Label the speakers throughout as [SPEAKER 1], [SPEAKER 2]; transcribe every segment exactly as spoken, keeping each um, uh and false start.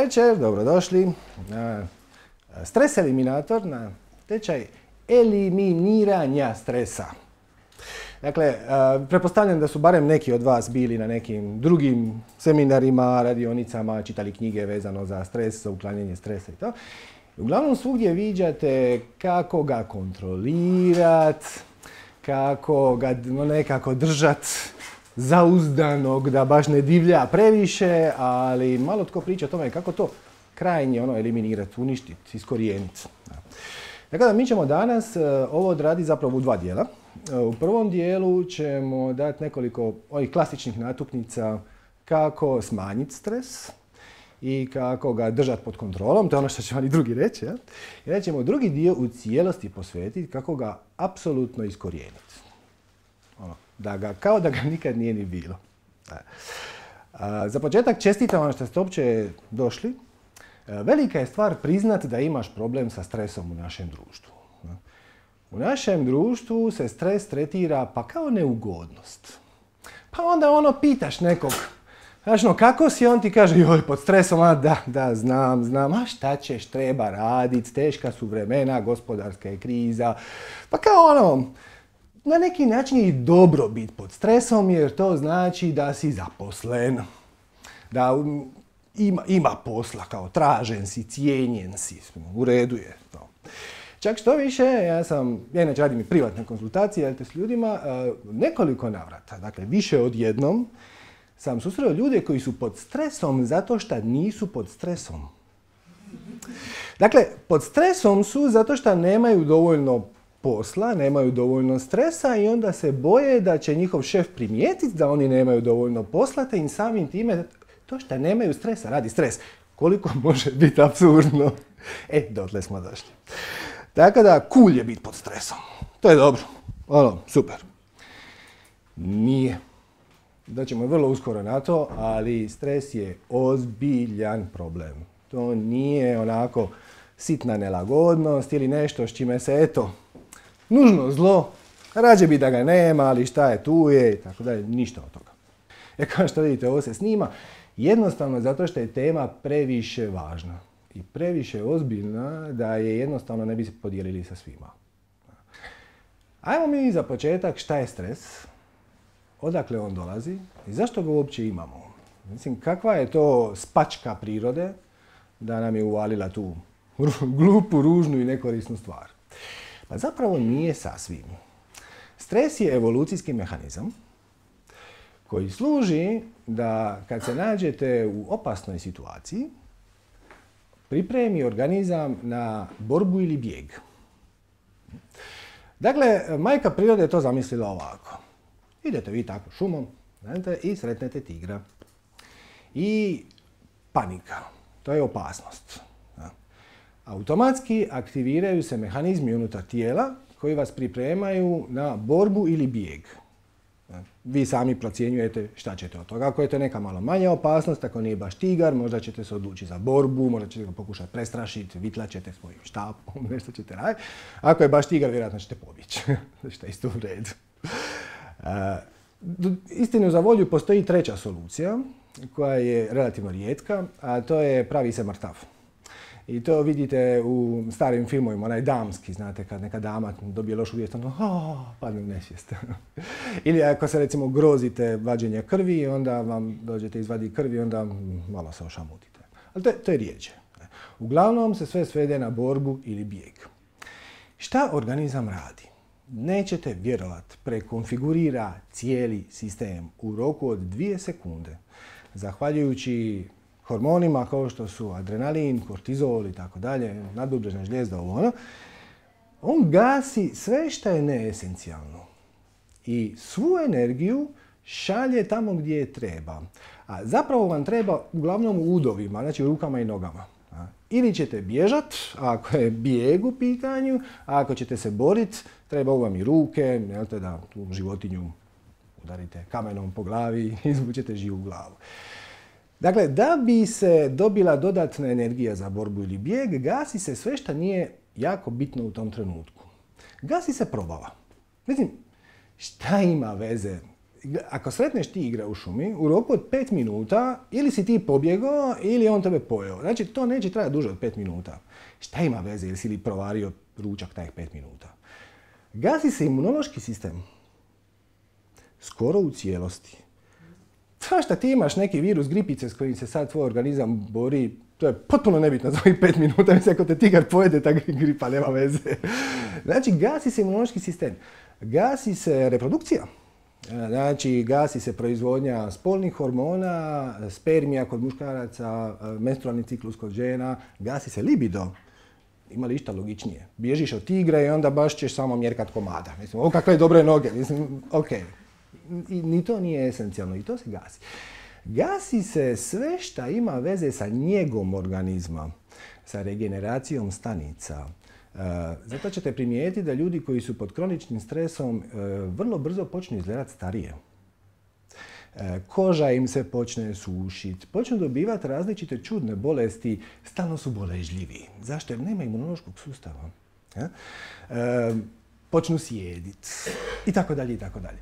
[SPEAKER 1] večer, dobrodošli na Stres Eliminator, na tečaj eliminiranja stresa. Dakle, pretpostavljam da su barem neki od vas bili na nekim drugim seminarima, radionicama, čitali knjige vezano za stres, za uklanjanje stresa i to. Uglavnom svugdje viđate kako ga kontrolirat, kako ga nekako držat zauzdanog, da baš ne divlja previše, ali malo tko priča o tome kako to krajnje ono eliminirati, uništiti, iskorijeniti. Tako da mi ćemo danas ovo odraditi zapravo u dva dijela. U prvom dijelu ćemo dati nekoliko ovih klasičnih natuknica kako smanjiti stres i kako ga držati pod kontrolom, to je ono što će vam i drugi reći. Ja? I onda ćemo drugi dio u cijelosti posvetiti kako ga apsolutno iskorijeniti. Ono, da ga, kao da ga nikad nije ni bilo. A, za početak čestitam vam što ste uopće došli. Velika je stvar priznat da imaš problem sa stresom u našem društvu. U našem društvu se stres tretira pa kao neugodnost. Pa onda ono pitaš nekog, znaš no, kako si, on ti kaže, joj, pod stresom, a da, da, znam, znam, a šta ćeš, treba radit, teška su vremena, gospodarska je kriza. Pa kao ono, na neki način je i dobro biti pod stresom jer to znači da si zaposlen, da ima, ima posla, kao tražen si, cijenjen si, u redu je to. Čak što više, ja sam, ja inače radim i privatne konzultacije s ljudima, nekoliko navrata, dakle više od jednom, sam susreo ljude koji su pod stresom zato što nisu pod stresom. Dakle, pod stresom su zato što nemaju dovoljno posla, nemaju dovoljno stresa i onda se boje da će njihov šef primijetiti da oni nemaju dovoljno posla, te im samim time to što nemaju stresa radi stres. Koliko može biti apsurdno? E, dotle smo došli. Tako da, cool je biti pod stresom. To je dobro. Ono, super. Nije. Daćemo vrlo uskoro na to, ali stres je ozbiljan problem. To nije onako sitna nelagodnost ili nešto s čime se, eto, nužno zlo, rađe bi da ga nema, ali šta je, tu je, i tako dalje, ništa od toga. E kao što vidite, ovo se snima, jednostavno zato što je tema previše važna i previše ozbiljna da je jednostavno ne bi se podijelili sa svima. Ajmo mi za početak šta je stres, odakle on dolazi i zašto ga uopće imamo. Mislim, kakva je to spačka prirode da nam je uvalila tu glupu, ružnu i nekorisnu stvar. Pa zapravo nije sasvim. Stres je evolucijski mehanizam koji služi da kad se nađete u opasnoj situaciji, pripremi organizam na borbu ili bijeg. Dakle, majka prirode je to zamislila ovako. Idete vi tako šumom, znate, i sretnete tigra. I panika, to je opasnost. Automatski aktiviraju se mehanizmi unutar tijela koji vas pripremaju na borbu ili bijeg. Vi sami procjenjujete šta ćete od toga. Ako je to neka malo manja opasnost, ako nije baš tigar, možda ćete se odlučiti za borbu, možda ćete ga pokušati prestrašiti, vitlat ćete svojim štapom, nešto ćete raditi. Ako je baš tigar, vjerojatno ćete pobjeći. Što je isto u redu. Uh, istinu za volju postoji treća solucija, koja je relativno rijetka, a to je pravi se mrtav. I to vidite u starim filmovima, onaj damski, znate, kad neka dama dobije lošu vijest, onda oh, padne u nesvijest. Ili ako se recimo grozite vađenja krvi, onda vam dođete izvaditi krvi i onda malo se ošamutite. Ali to je, to je rijeđe. Uglavnom se sve svede na borbu ili bijeg. Šta organizam radi? Nećete vjerovati, prekonfigurira cijeli sistem u roku od dvije sekunde. Zahvaljujući hormonima kao što su adrenalin, kortizol i tako dalje, nadbubrežna žlijezda, ovo ono, on gasi sve što je neesencijalno. I svu energiju šalje tamo gdje je treba. A zapravo vam treba uglavnom u udovima, znači u rukama i nogama. Ili ćete bježat, ako je bijeg u pitanju, a ako ćete se borit, trebaju vam i ruke, jelte da tu životinju udarite kamenom po glavi i izvučete živu glavu. Dakle, da bi se dobila dodatna energija za borbu ili bijeg, gasi se sve što nije jako bitno u tom trenutku. Gasi se probava. Mislim, šta ima veze Ako sretneš tigra u šumi, u roku od pet minuta ili si ti pobjegao ili on tebe pojeo. Znači, to neće trajati duže od pet minuta. Šta ima veze ili si li provario ručak tajih pet minuta? Gasi se imunološki sistem. Skoro u cijelosti. To što ti imaš neki virus gripice s kojim se sad tvoj organizam bori, to je potpuno nebitno za ovih pet minuta. Mislim, ako te tigar pojede, ta gripa nema veze. Znači, gasi se imunološki sistem. Gasi se reprodukcija. Znači, gasi se proizvodnja spolnih hormona, spermija kod muškaraca, menstrualni ciklus kod žena, gasi se libido. Ima li išta logičnije? Bježiš od tigra i onda baš ćeš samo mjerkat komada. Mislim, o kakve dobre noge. Mislim, ok. I, ni to nije esencijalno i to se gasi. Gasi se sve šta ima veze sa njegom organizma, sa regeneracijom stanica. Uh, zato ćete primijetiti da ljudi koji su pod kroničnim stresom uh, vrlo brzo počnu izgledati starije. Uh, koža im se počne sušiti, počnu dobivati različite čudne bolesti, stalno su boležljivi. Zašto? Jer nema imunološkog sustava. Uh, počnu sjediti i tako dalje i tako dalje.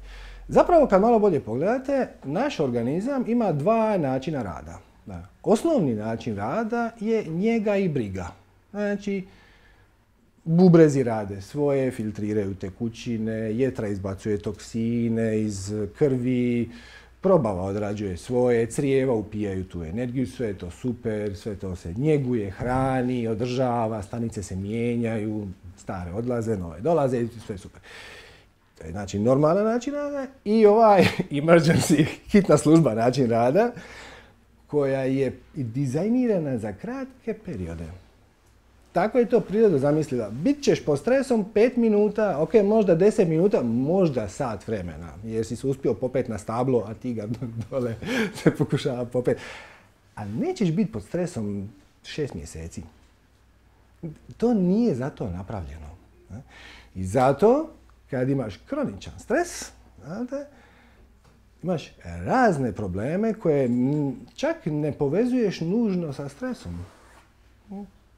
[SPEAKER 1] Zapravo, kad malo bolje pogledate, naš organizam ima dva načina rada. Da. Osnovni način rada je njega i briga. Znači, bubrezi rade svoje, filtriraju tekućine, jetra izbacuje toksine iz krvi, probava odrađuje svoje, crijeva upijaju tu energiju, sve je to super, sve to se njeguje, hrani, održava, stanice se mijenjaju, stare odlaze, nove dolaze i sve je super. To je znači normalan način rada i ovaj emergency, hitna služba način rada, koja je dizajnirana za kratke periode. Tako je to priroda zamislila. Bit ćeš pod stresom pet minuta, ok, možda deset minuta, možda sat vremena. Jer si se uspio popet na stablo, a ti ga dole se pokušava popet. A nećeš biti pod stresom šest mjeseci. To nije zato napravljeno. I zato, kad imaš kroničan stres, znate, imaš razne probleme koje čak ne povezuješ nužno sa stresom.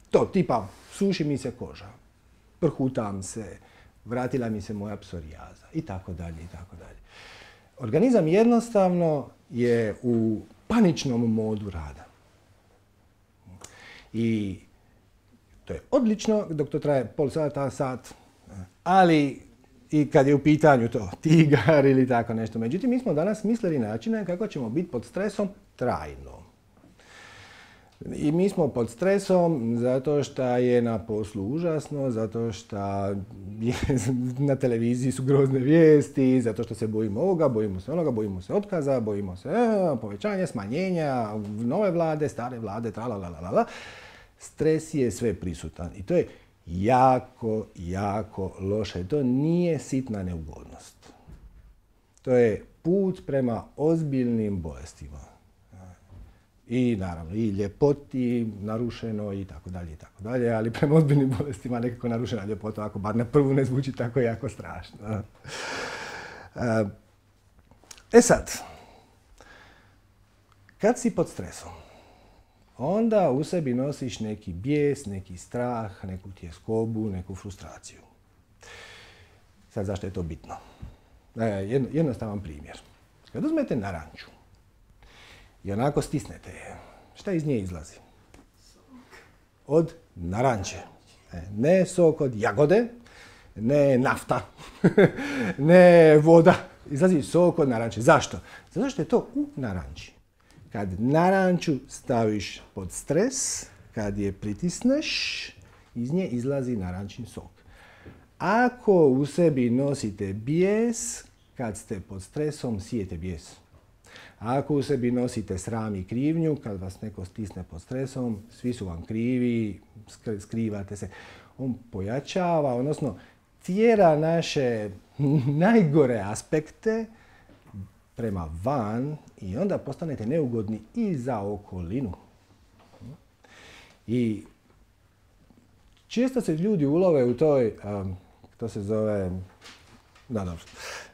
[SPEAKER 1] To, tipa, suši mi se koža, prhutam se, vratila mi se moja psorijaza i tako dalje i tako dalje. Organizam jednostavno je u paničnom modu rada. I to je odlično dok to traje pol sata, sat, ali i kad je u pitanju to tigar ili tako nešto. Međutim, mi smo danas mislili načine kako ćemo biti pod stresom trajno. I mi smo pod stresom zato što je na poslu užasno, zato što je, na televiziji su grozne vijesti, zato što se bojimo ovoga, bojimo se onoga, bojimo se otkaza, bojimo se e, povećanja, smanjenja, nove vlade, stare vlade, tralalalala. Stres je sve prisutan i to je jako, jako loše. To nije sitna neugodnost. To je put prema ozbiljnim bolestima. I naravno, i ljepoti narušeno i tako dalje i tako dalje, ali prema ozbiljnim bolestima nekako narušena ljepota, ako bar na prvu ne zvuči tako jako strašno. E sad, kad si pod stresom, onda u sebi nosiš neki bijes, neki strah, neku tjeskobu, neku frustraciju. Sad, zašto je to bitno? Jednostavan primjer. Kad uzmete naranču i onako stisnete je, šta iz nje izlazi? Od naranče. Ne sok od jagode, ne nafta, ne voda. Izlazi sok od naranče. Zašto? Zato što je to u naranči. Kad naranču staviš pod stres, kad je pritisneš, iz nje izlazi narančin sok. Ako u sebi nosite bijes, kad ste pod stresom, sijete bijes. Ako u sebi nosite sram i krivnju, kad vas neko stisne pod stresom, svi su vam krivi, skrivate se. On pojačava, odnosno tjera naše najgore aspekte prema van i onda postanete neugodni i za okolinu. I često se ljudi ulove u toj, um, to se zove, da, dobro,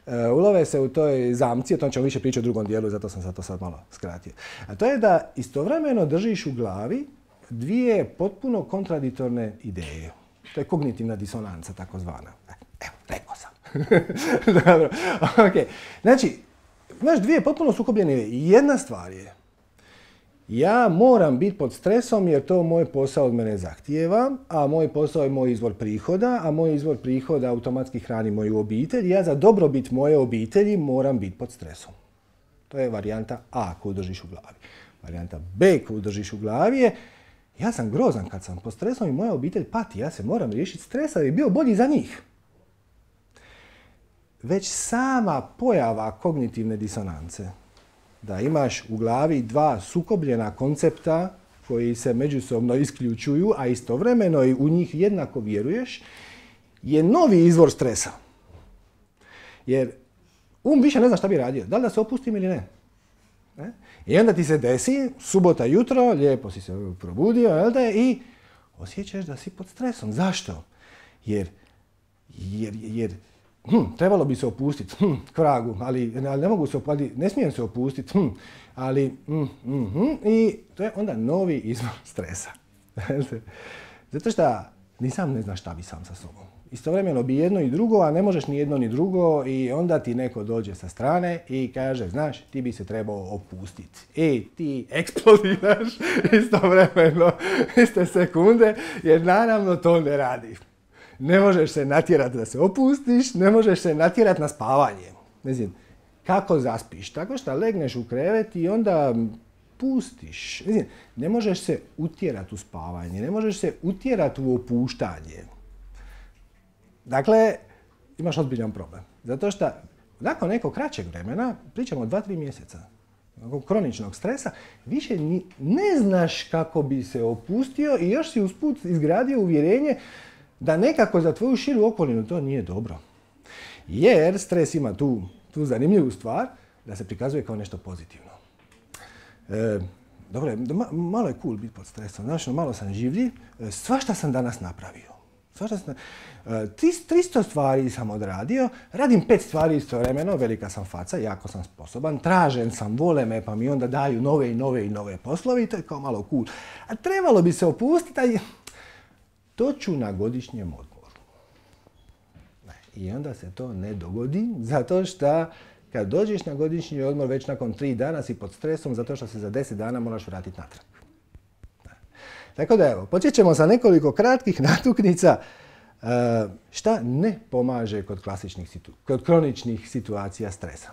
[SPEAKER 1] uh, ulove se u toj zamci, o tom ćemo više pričati u drugom dijelu, zato sam sad to sad malo skratio. A to je da istovremeno držiš u glavi dvije potpuno kontradiktorne ideje. To je kognitivna disonanca, takozvana. Evo, rekao sam. Dobro, ok. Znači, imaš dvije potpuno sukobljene. Jedna stvar je, ja moram biti pod stresom jer to moj posao od mene zahtijeva, a moj posao je moj izvor prihoda, a moj izvor prihoda automatski hrani moju obitelj. Ja za dobrobit moje obitelji moram biti pod stresom. To je varijanta A koju držiš u glavi. Varijanta B koju držiš u glavi je, ja sam grozan kad sam pod stresom i moja obitelj pati. Ja se moram riješiti stresa da bi bio bolji za njih. Već sama pojava kognitivne disonance, da imaš u glavi dva sukobljena koncepta koji se međusobno isključuju, a istovremeno i u njih jednako vjeruješ, je novi izvor stresa. Jer um više ne zna šta bi radio, da li da se opustim ili ne. ne? I onda ti se desi, subota jutro, lijepo si se probudio, jel da, i osjećaš da si pod stresom. Zašto? Jer, jer, jer Hm, trebalo bi se opustiti, hm, kvragu, ali, ali ne mogu se opustiti, ne smijem se opustiti, hm, ali, hm, hm, hm, i to je onda novi izvor stresa. Zato što ni sam ne znaš šta bi sam sa sobom. Istovremeno bi jedno i drugo, a ne možeš ni jedno ni drugo i onda ti neko dođe sa strane i kaže, znaš, ti bi se trebao opustiti. I ti eksplodiraš istovremeno, iste sekunde, jer naravno to ne radi. Ne možeš se natjerati da se opustiš, ne možeš se natjerati na spavanje. Ne znam, kako zaspiš? Tako što legneš u krevet i onda pustiš. Ne znam, ne možeš se utjerati u spavanje, ne možeš se utjerati u opuštanje. Dakle, imaš ozbiljan problem. Zato što nakon nekog kraćeg vremena, pričamo o dva tri mjeseca, nakon kroničnog stresa, više ni, ne znaš kako bi se opustio i još si usput izgradio uvjerenje da nekako za tvoju širu okolinu to nije dobro. Jer stres ima tu, tu zanimljivu stvar da se prikazuje kao nešto pozitivno. E, dobro je, malo je cool biti pod stresom. Znaš, malo sam življiv, svašta sam danas napravio. Svašta sam, e, tristo stvari sam odradio, radim pet stvari istovremeno, velika sam faca, jako sam sposoban, tražen sam, vole me, pa mi onda daju nove i nove i nove poslove i to je kao malo cool. A trebalo bi se opustiti, a to ću na godišnjem odmoru. I onda se to ne dogodi, zato što kad dođeš na godišnji odmor, već nakon tri dana si pod stresom, zato što se za deset dana moraš vratiti natrag. Tako da evo, počet ćemo sa nekoliko kratkih natuknica šta ne pomaže kod klasičnih situ- kod kroničnih situacija stresa.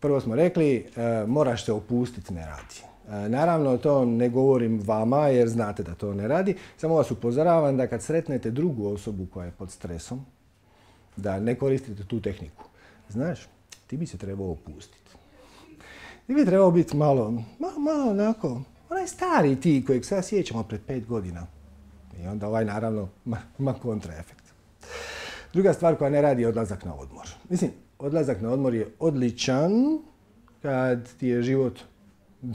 [SPEAKER 1] Prvo smo rekli, moraš se opustiti, ne radi. Naravno, to ne govorim vama jer znate da to ne radi. Samo vas upozoravam da kad sretnete drugu osobu koja je pod stresom, da ne koristite tu tehniku. Znaš, ti bi se trebao opustiti. Ti bi trebao biti malo, malo, malo onako, onaj stari ti kojeg sad sjećamo pred pet godina. I onda ovaj naravno ima kontraefekt. Druga stvar koja ne radi je odlazak na odmor. Mislim, odlazak na odmor je odličan kad ti je život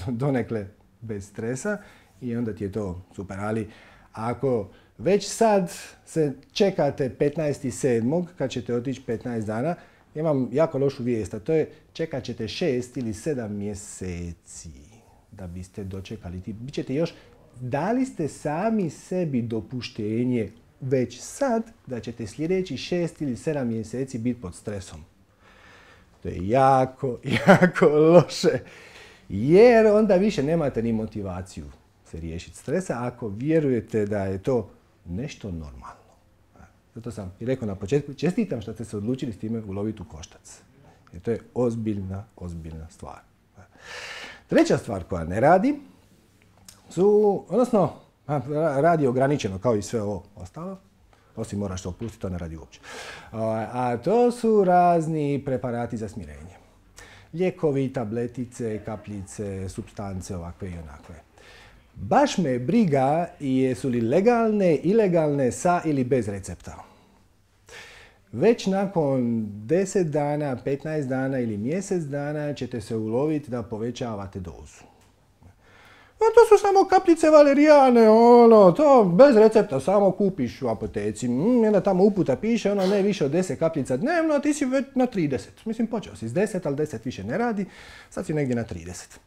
[SPEAKER 1] donekle bez stresa i onda ti je to super, ali ako već sad se čekate petnaesti sedmog kad ćete otići petnaest dana, imam jako lošu vijest, a to je čekat ćete šest ili sedam mjeseci da biste dočekali. Bićete još, dali ste sami sebi dopuštenje već sad da ćete sljedeći šest ili sedam mjeseci biti pod stresom. To je jako, jako loše. Jer onda više nemate ni motivaciju se riješiti stresa ako vjerujete da je to nešto normalno. Zato sam i rekao na početku, čestitam što ste se odlučili s time uloviti u koštac. Jer to je ozbiljna, ozbiljna stvar. Treća stvar koja ne radi su, odnosno radi ograničeno kao i sve ovo ostalo, osim moraš se opustiti, to ne radi uopće. A to su razni preparati za smirenje. Lijekovi, tabletice, kapljice, supstance ovakve i onakve. Baš me briga jesu li legalne, ilegalne, sa ili bez recepta. Već nakon deset dana, petnaest dana ili mjesec dana ćete se uloviti da povećavate dozu. A to su samo kapljice valerijane, ono, to bez recepta, samo kupiš u apoteci. Mm, onda tamo uputa piše, ono, ne više od deset kapljica dnevno, a ti si već na trideset. Mislim, počeo si s deset, ali deset više ne radi, sad si negdje na trideset.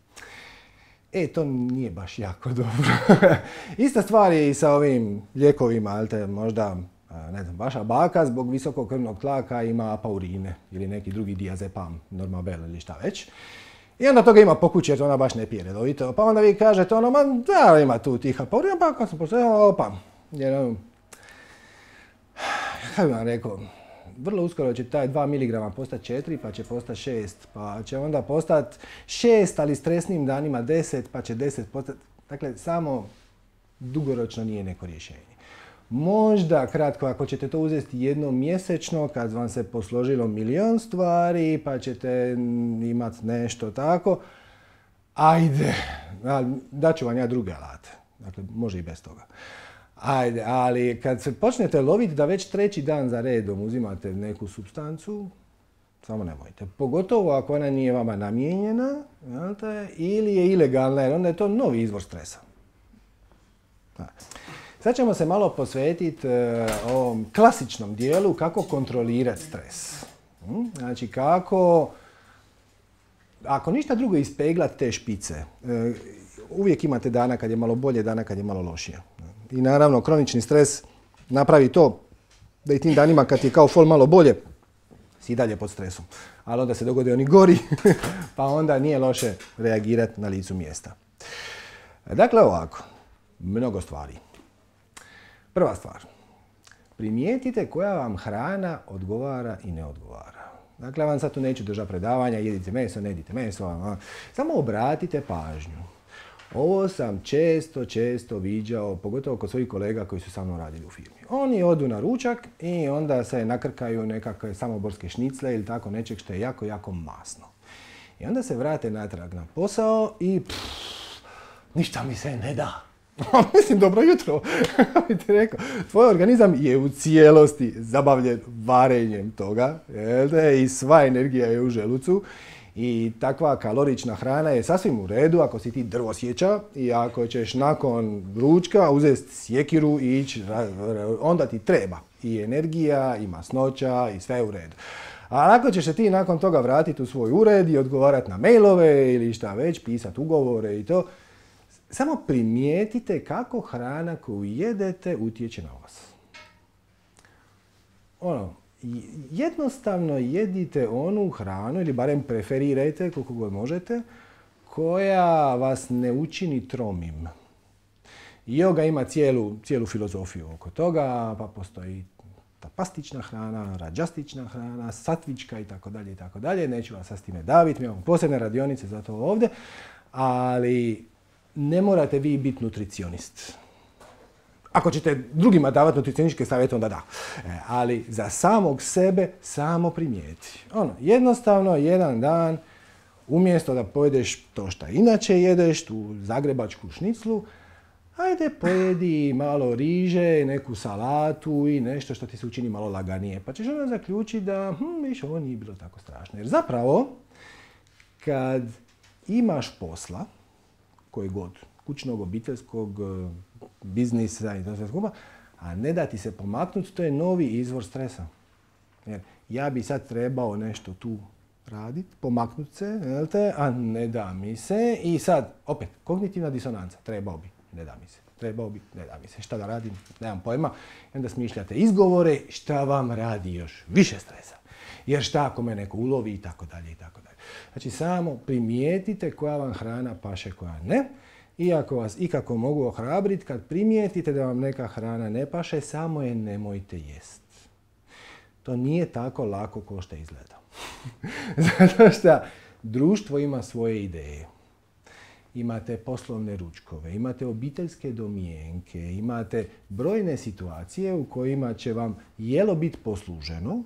[SPEAKER 1] E, to nije baš jako dobro. Ista stvar je i sa ovim lijekovima, ali te možda ne znam, vaša baka zbog visokog krvnog tlaka ima apaurine ili neki drugi diazepam, normabel ili šta već. I onda toga ima po kući jer ona baš ne pije redovito. Pa onda vi kažete ono, ma da ima tu tih apaurina, pa kad sam postavio, opa. Jer ono, kako bi vam rekao, vrlo uskoro će taj dva miligrama postati četiri, pa će postati šest, pa će onda postati šest, ali stresnim danima deset, pa će deset postati. Dakle, samo dugoročno nije neko rješenje. Možda kratko, ako ćete to uzeti jednom mjesečno, kad vam se posložilo milion stvari, pa ćete imati nešto tako, ajde, daću vam ja druge alate. Dakle, može i bez toga. Ajde, ali kad se počnete loviti da već treći dan za redom uzimate neku supstancu, samo nemojte. Pogotovo ako ona nije vama namijenjena, ili je ilegalna, jer onda je to novi izvor stresa. Sad ćemo se malo posvetiti ovom klasičnom dijelu kako kontrolirati stres. Znači kako, ako ništa drugo, ispeglati te špice. Uvijek imate dana kad je malo bolje, dana kad je malo lošije. I naravno, kronični stres napravi to da i tim danima kad je kao fol malo bolje, si i dalje pod stresom. Ali onda se dogode oni gori, pa onda nije loše reagirati na licu mjesta. Dakle, ovako, mnogo stvari. Prva stvar, primijetite koja vam hrana odgovara i ne odgovara. Dakle, vam sad tu neću držati predavanja, jedite meso, ne jedite meso, samo obratite pažnju. Ovo sam često, često viđao, pogotovo kod svojih kolega koji su sa mnom radili u firmi. Oni odu na ručak i onda se nakrkaju nekakve samoborske šnicle ili tako nečeg što je jako, jako masno. I onda se vrate natrag na posao i pff, ništa mi se ne da. Mislim, dobro jutro, bi ti rekao. Tvoj organizam je u cijelosti zabavljen varenjem toga, i sva energija je u želucu. I takva kalorična hrana je sasvim u redu ako si ti drvosječa i ako ćeš nakon ručka uzeti sjekiru i ići, onda ti treba i energija, i masnoća, i sve u redu. A ako ćeš se ti nakon toga vratiti u svoj ured i odgovarati na mailove ili šta već, pisati ugovore i to, samo primijetite kako hrana koju jedete utječe na vas. Ono, jednostavno jedite onu hranu, ili barem preferirajte koliko god možete, koja vas ne učini tromim. Yoga ima cijelu, cijelu filozofiju oko toga, pa postoji ta pastična hrana, rađastična hrana, satvička itd. itd. Neću vas sad s time daviti, mi imamo posebne radionice za to ovdje, ali ne morate vi biti nutricionist. Ako ćete drugima davati nutricionističke savjete, onda da. E, ali za samog sebe samo primijeti. Ono, jednostavno, jedan dan, umjesto da pojedeš to što inače jedeš, tu zagrebačku šniclu, ajde pojedi malo riže, neku salatu i nešto što ti se učini malo laganije. Pa ćeš onda zaključiti da, hm, viš, ovo nije bilo tako strašno. Jer zapravo, kad imaš posla, koji god, kućnog, obiteljskog, biznisa i to sve skupa, a ne da ti se pomaknuti, to je novi izvor stresa. Jer ja bi sad trebao nešto tu raditi, pomaknuti se, a ne da mi se. I sad, opet, kognitivna disonanca, trebao bi, ne da mi se. Trebao bi, ne da mi se. Šta da radim, nemam pojma. I onda smišljate izgovore, šta vam radi još više stresa. Jer šta ako me neko ulovi i tako dalje i tako dalje. Znači, samo primijetite koja vam hrana paše, koja ne. Iako vas ikako mogu ohrabriti, kad primijetite da vam neka hrana ne paše, samo je nemojte jest. To nije tako lako kao što izgleda. Zato što društvo ima svoje ideje. Imate poslovne ručkove, imate obiteljske domjenke, imate brojne situacije u kojima će vam jelo biti posluženo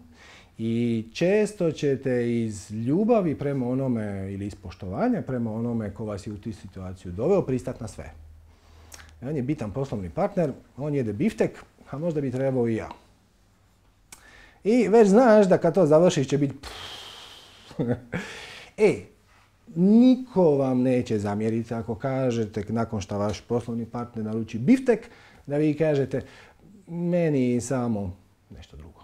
[SPEAKER 1] i često ćete iz ljubavi prema onome ili iz poštovanja prema onome ko vas je u tu situaciju doveo pristati na sve. On je bitan poslovni partner, on jede biftek, a možda bi trebao i ja. I već znaš da kad to završiš će biti E, niko vam neće zamjeriti ako kažete nakon što vaš poslovni partner naruči biftek, da vi kažete meni samo nešto drugo.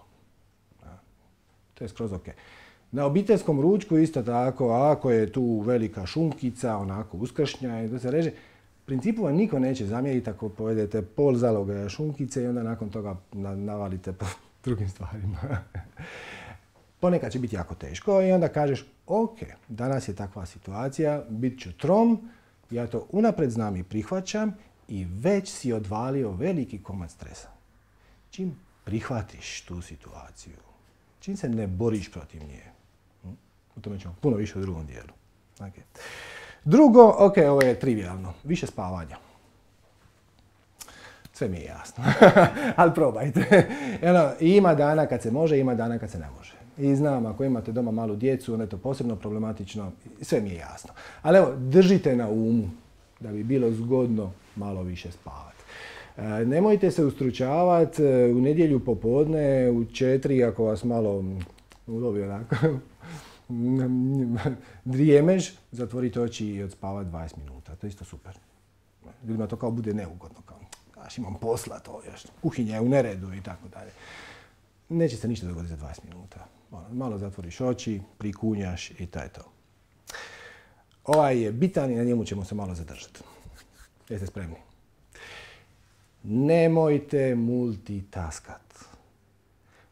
[SPEAKER 1] To je skroz ok. Na obiteljskom ručku isto tako, ako je tu velika šunkica, onako uskršnja i to se reže, principu vam niko neće zamjeriti ako povedete pol zaloga šunkice i onda nakon toga navalite po drugim stvarima. Ponekad će biti jako teško i onda kažeš, ok, danas je takva situacija, bit ću trom, ja to unaprijed znam i prihvaćam i već si odvalio veliki komad stresa. Čim prihvatiš tu situaciju, čim se ne boriš protiv nje, o tome ćemo puno više u drugom dijelu. Okay. Drugo, ok, ovo je trivialno, više spavanja. Sve mi je jasno, ali probajte. Eno, ima dana kad se može, ima dana kad se ne može. I znam, ako imate doma malu djecu, onda je to posebno problematično, sve mi je jasno. Ali evo, držite na umu da bi bilo zgodno malo više spavati. E, nemojte se ustručavati u nedjelju popodne, u četiri, ako vas malo ulovi onako, drijemež, zatvorite oči i odspavati dvadeset minuta. To je isto super. Ljudima to kao bude neugodno, kao, znaš, imam posla, to još, kuhinja je u neredu i tako dalje. Neće se ništa dogoditi za dvadeset minuta. Malo zatvoriš oči, prikunjaš i to je to. Ovaj je bitan i na njemu ćemo se malo zadržati. Jeste spremni? Nemojte multitaskat.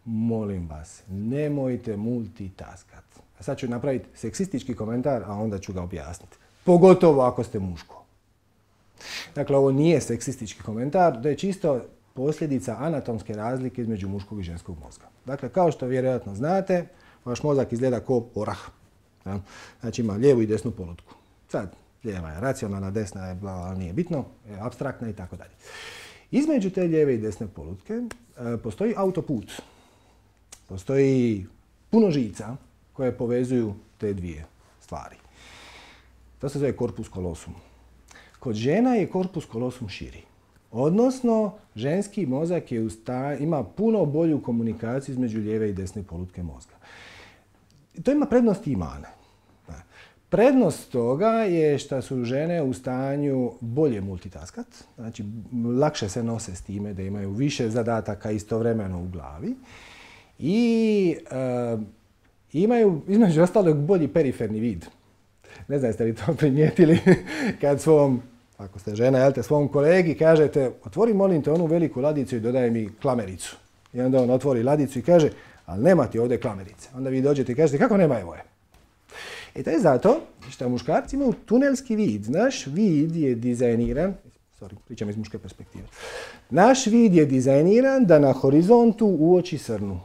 [SPEAKER 1] Molim vas, nemojte multitaskat. A sad ću napraviti seksistički komentar, a onda ću ga objasniti. Pogotovo ako ste muško. Dakle, ovo nije seksistički komentar, to je čisto posljedica anatomske razlike između muškog i ženskog mozga. Dakle, kao što vjerojatno znate, vaš mozak izgleda kao orah. Znači ima lijevu i desnu polutku. Sad, lijeva je racionalna, desna je bla, nije bitno, je apstraktna i tako dalje. Između te lijeve i desne polutke e, postoji autoput. Postoji puno žica koje povezuju te dvije stvari. To se zove corpus callosum. Kod žena je corpus callosum širi. Odnosno, ženski mozak je usta, ima puno bolju komunikaciju između lijeve i desne polutke mozga. To ima prednosti i mane. Prednost toga je što su žene u stanju bolje multitaskat, znači lakše se nose s time da imaju više zadataka istovremeno u glavi i e, imaju između ostalog bolji periferni vid. Ne znam jeste li to primijetili kad svom, ako ste žena, jel te, svom kolegi kažete otvori molim te onu veliku ladicu i dodaj mi klamericu. I onda on otvori ladicu i kaže ali nema ti ovdje klamerice. Onda vi dođete i kažete kako nema evo je. E to je zato što muškarci imaju tunelski vid. Naš vid je dizajniran, sorry, pričam iz muške perspektive. Naš vid je dizajniran da na horizontu uoči srnu.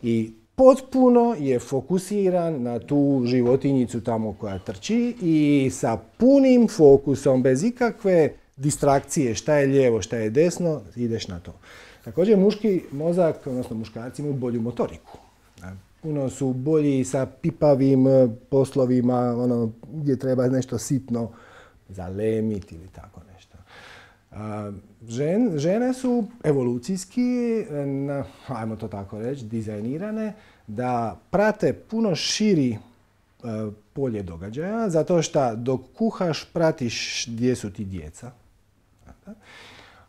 [SPEAKER 1] I potpuno je fokusiran na tu životinjicu tamo koja trči i sa punim fokusom, bez ikakve distrakcije, šta je lijevo, šta je desno, ideš na to. Također muški mozak, odnosno muškarci imaju bolju motoriku. Puno su bolji sa pipavim poslovima, ono, gdje treba nešto sitno zalemiti ili tako nešto. Žen, žene su evolucijski, na, ajmo to tako reći, dizajnirane da prate puno širi uh, polje događaja, zato što dok kuhaš pratiš gdje su ti djeca.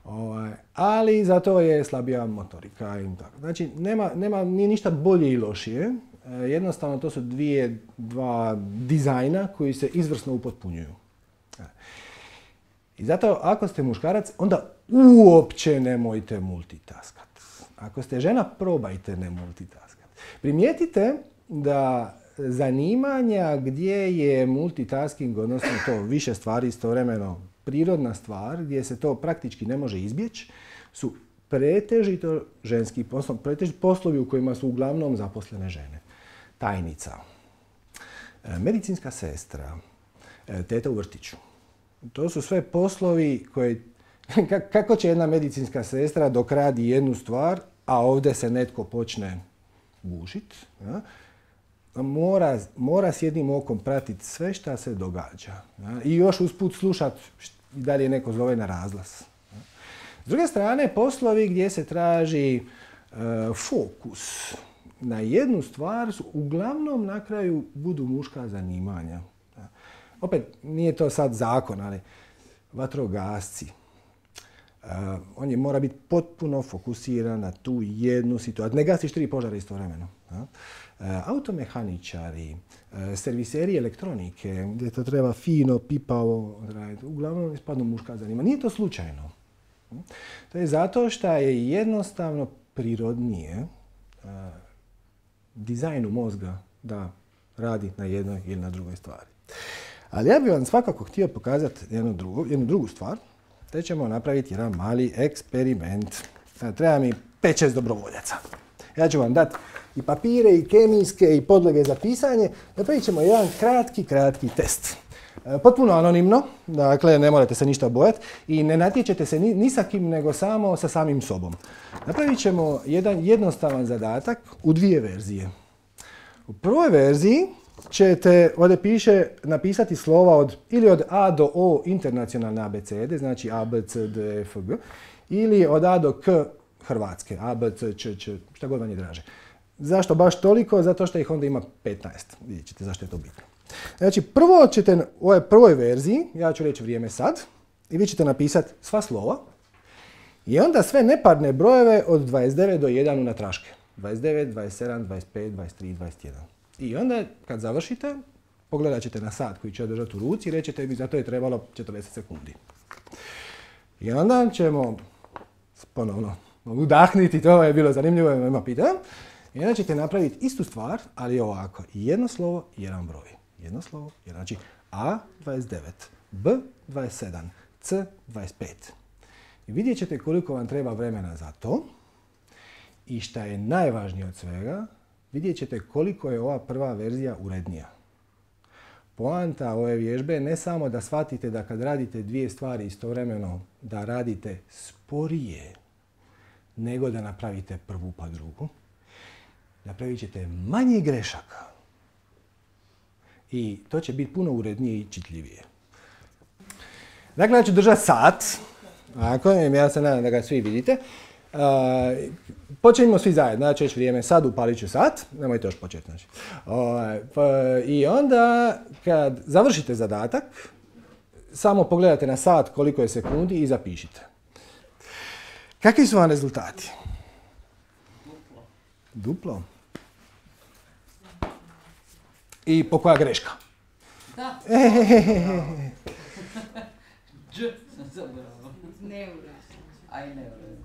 [SPEAKER 1] Ovaj, ali zato je slabija motorika i tako. Znači, nema, nema, nije ništa bolje i lošije. E, jednostavno, to su dvije, dva dizajna koji se izvrsno upotpunjuju. E. I zato, ako ste muškarac, onda uopće nemojte multitaskat. Ako ste žena, probajte ne multitaskat. Primijetite da zanimanja gdje je multitasking, odnosno to više stvari istovremeno, prirodna stvar, gdje se to praktički ne može izbjeći, su pretežito ženski poslovi, pretežito poslovi u kojima su uglavnom zaposlene žene. Tajnica, medicinska sestra, teta u vrtiću. To su sve poslovi koje, kako će jedna medicinska sestra dok radi jednu stvar, a ovdje se netko počne gušiti, ja, Mora, mora s jednim okom pratiti sve šta se događa. Ja? I još usput slušati da li je neko zove na razglas. Ja? S druge strane, poslovi gdje se traži e, fokus na jednu stvar su uglavnom na kraju budu muška zanimanja. Ja? Opet, nije to sad zakon, ali vatrogasci, Uh, on je mora biti potpuno fokusiran na tu jednu situaciju. Ne gasiš tri požara istovremeno. Uh, automehaničari, uh, serviseri elektronike, gdje to treba fino, pipavo raditi. Uglavnom ispadnu muška zanima. Nije to slučajno. Uh, to je zato što je jednostavno prirodnije uh, dizajnu mozga da radi na jednoj ili na drugoj stvari. Ali ja bih vam svakako htio pokazati jednu drugu, jednu drugu stvar. Te ćemo napraviti jedan mali eksperiment. Treba mi pet šest dobrovoljaca. Ja ću vam dati i papire, i kemijske, i podloge za pisanje. Napravit ćemo jedan kratki, kratki test. Potpuno anonimno, dakle ne morate se ništa bojati i ne natječete se ni, ni sa kim, nego samo sa samim sobom. Napravit ćemo jedan jednostavan zadatak u dvije verzije. U prvoj verziji ćete, ovdje piše, napisati slova od, ili od A do O internacionalne abecede, znači A, B, C, D, F, G, ili od A do K hrvatske, A, B, C, Č, Č, šta god vam je draže. Zašto baš toliko? Zato što ih onda ima petnaest. Vidjet ćete zašto je to bitno. Znači, prvo ćete u ovoj prvoj verziji, ja ću reći vrijeme sad, i vi ćete napisati sva slova, i onda sve neparne brojeve od dvadeset devet do jedan unatraške. dvadeset devet, dvadeset sedam, dvadeset pet, dvadeset tri, dvadeset jedan. I onda, kad završite, pogledat ćete na sat koji će držati u ruci i rećete mi za to je trebalo četrdeset sekundi. I onda ćemo ponovno udahniti, to je bilo zanimljivo, ima pitanja. I onda ćete napraviti istu stvar, ali ovako. Jedno slovo, jedan broj. Jedno slovo, jedan. Znači A dvadeset devet, B dvadeset sedam, C dvadeset pet. I vidjet ćete koliko vam treba vremena za to. I šta je najvažnije od svega, vidjet ćete koliko je ova prva verzija urednija. Poanta ove vježbe je ne samo da shvatite da kad radite dvije stvari istovremeno, da radite sporije, nego da napravite prvu pa drugu. Napravit ćete manje grešaka. I to će biti puno urednije i čitljivije. Dakle, ja ću držati sat. Ako, ja se nadam da ga svi vidite. Uh, počinjemo svi zajedno, znači već vrijeme, sad upalit ću sat, nemojte još početi. Znači. Uh, pa, I onda kad završite zadatak, samo pogledate na sat koliko je sekundi i zapišite. Kakvi su vam rezultati?
[SPEAKER 2] Duplo.
[SPEAKER 1] Duplo? I po koja greška?
[SPEAKER 2] Da. Dž sam zabrao.
[SPEAKER 3] Neuredno.
[SPEAKER 2] Aj neuredno.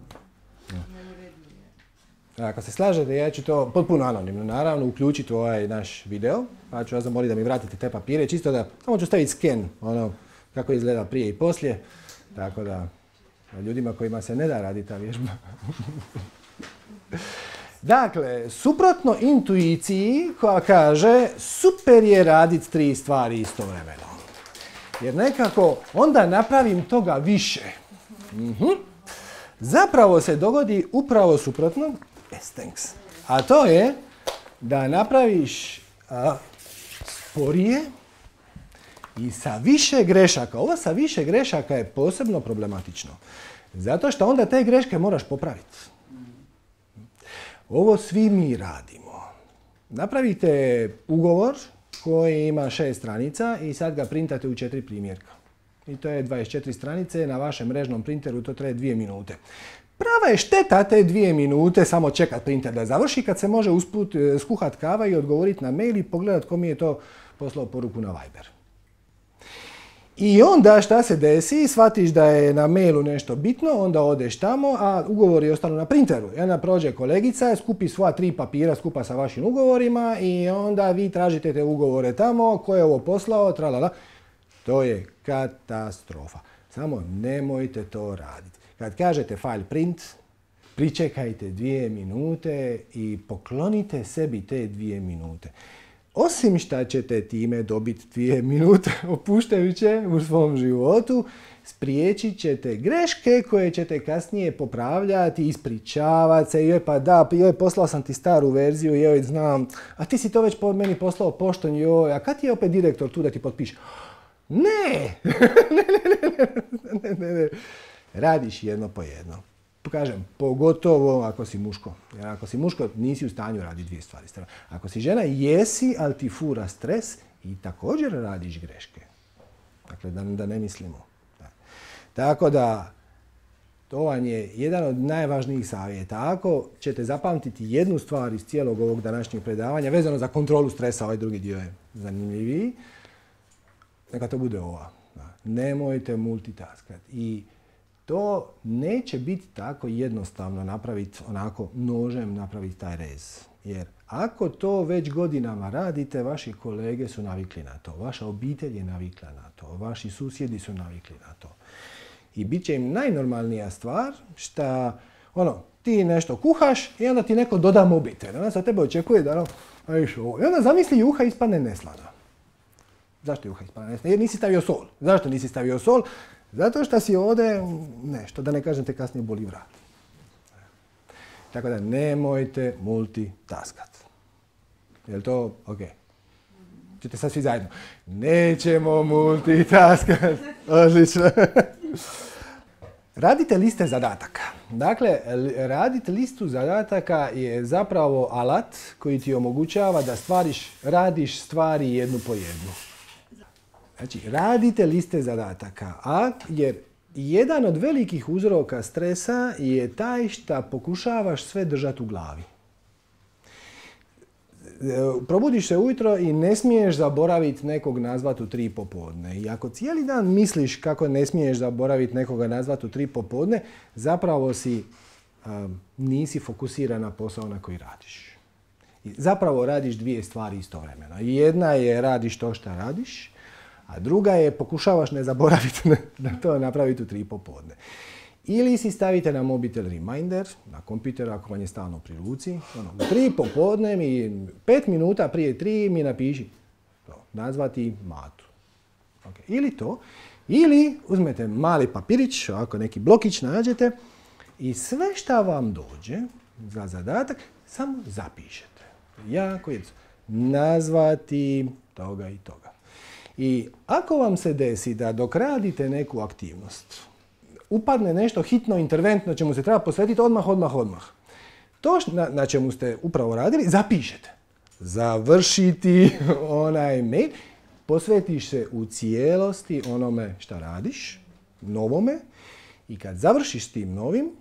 [SPEAKER 1] Ako se slažete, ja ću to potpuno anonimno, naravno, uključiti u ovaj naš video, pa ću vas zamoliti da mi vratite te papire, čisto da, samo ću staviti sken, ono, kako izgleda prije i poslije, tako da, ljudima kojima se ne da raditi ta vježba. Dakle, suprotno intuiciji koja kaže super je raditi tri stvari istovremeno. Jer nekako onda napravim toga više. Mhm. Zapravo se dogodi upravo suprotno, yes, thanks. A to je da napraviš a, sporije i sa više grešaka. Ovo sa više grešaka je posebno problematično. Zato što onda te greške moraš popraviti. Ovo svi mi radimo. Napravite ugovor koji ima šest stranica i sad ga printate u četiri primjerka. I to je dvadeset četiri stranice, na vašem mrežnom printeru to traje dvije minute. Prava je šteta te dvije minute samo čekat printer da završi kad se može usput skuhat kava i odgovoriti na mail i pogledat ko mi je to poslao poruku na Viber. I onda šta se desi, shvatiš da je na mailu nešto bitno, onda odeš tamo, a ugovori ostanu na printeru. I onda prođe kolegica, skupi svoja tri papira skupa sa vašim ugovorima i onda vi tražite te ugovore tamo, ko je ovo poslao, tralala. To je katastrofa. Samo nemojte to raditi. Kad kažete file print, pričekajte dvije minute i poklonite sebi te dvije minute. Osim šta ćete time dobiti dvije minute opuštajuće u svom životu, spriječit ćete greške koje ćete kasnije popravljati, ispričavati se, joj pa da, joj poslao sam ti staru verziju, joj znam, a ti si to već po meni poslao poštom, joj, a kad je opet direktor tu da ti potpiše? Ne! ne, ne, ne, ne, ne. Radiš jedno po jedno. Kažem, pogotovo ako si muško. Jer ako si muško, nisi u stanju raditi dvije stvari. Ako si žena, jesi, ali ti fura stres i također radiš greške. Dakle, da, da ne mislimo. Da. Tako da, To vam je jedan od najvažnijih savjeta. Ako ćete zapamtiti jednu stvar iz cijelog ovog današnjeg predavanja, vezano za kontrolu stresa, ovaj drugi dio je zanimljiviji, neka to bude ova. Nemojte multitaskati. I to neće biti tako jednostavno napraviti, onako nožem napraviti taj rez. Jer ako to već godinama radite, vaši kolege su navikli na to, vaša obitelj je navikla na to, vaši susjedi su navikli na to. I bit će im najnormalnija stvar šta, ono, ti nešto kuhaš i onda ti neko doda mobitel. Onda se od tebe očekuje da, ono, i onda zamisli juha ispadne neslana. Zašto juha ispadne neslana? Jer nisi stavio sol. Zašto nisi stavio sol? Zato što si ovdje nešto, da ne kažem te kasnije boli vrat. Tako da nemojte multitaskat. Je li to ok? Čete sad svi zajedno. Nećemo multitaskat. Odlično. Radite liste zadataka. Dakle, raditi listu zadataka je zapravo alat koji ti omogućava da stvariš, radiš stvari jednu po jednu. Znači, radite liste zadataka, a jer jedan od velikih uzroka stresa je taj što pokušavaš sve držati u glavi. Probudiš se ujutro i ne smiješ zaboraviti nekog nazvati u tri popodne. I ako cijeli dan misliš kako ne smiješ zaboraviti nekoga nazvati u tri popodne, zapravo si, um, nisi fokusiran na posao na koji radiš. I zapravo radiš dvije stvari istovremeno. Jedna je radiš to što radiš, a druga je pokušavaš ne zaboraviti na to napraviti u tri popodne. Ili si stavite na mobitel reminder, na kompjuter ako vam je stalno pri ruci. Ono, u tri popodne mi, pet minuta prije tri mi napiši to, nazvati Matu. Okay. Ili to, ili uzmete mali papirić, ovako neki blokić nađete i sve šta vam dođe za zadatak, samo zapišete. Jako jednostavno. Nazvati toga i toga. I ako vam se desi da dok radite neku aktivnost, upadne nešto hitno, interventno, čemu se treba posvetiti odmah, odmah, odmah. To na, na čemu ste upravo radili, zapišete. Završiti onaj mail, posvetiš se u cijelosti onome šta radiš, novome, i kad završiš s tim novim,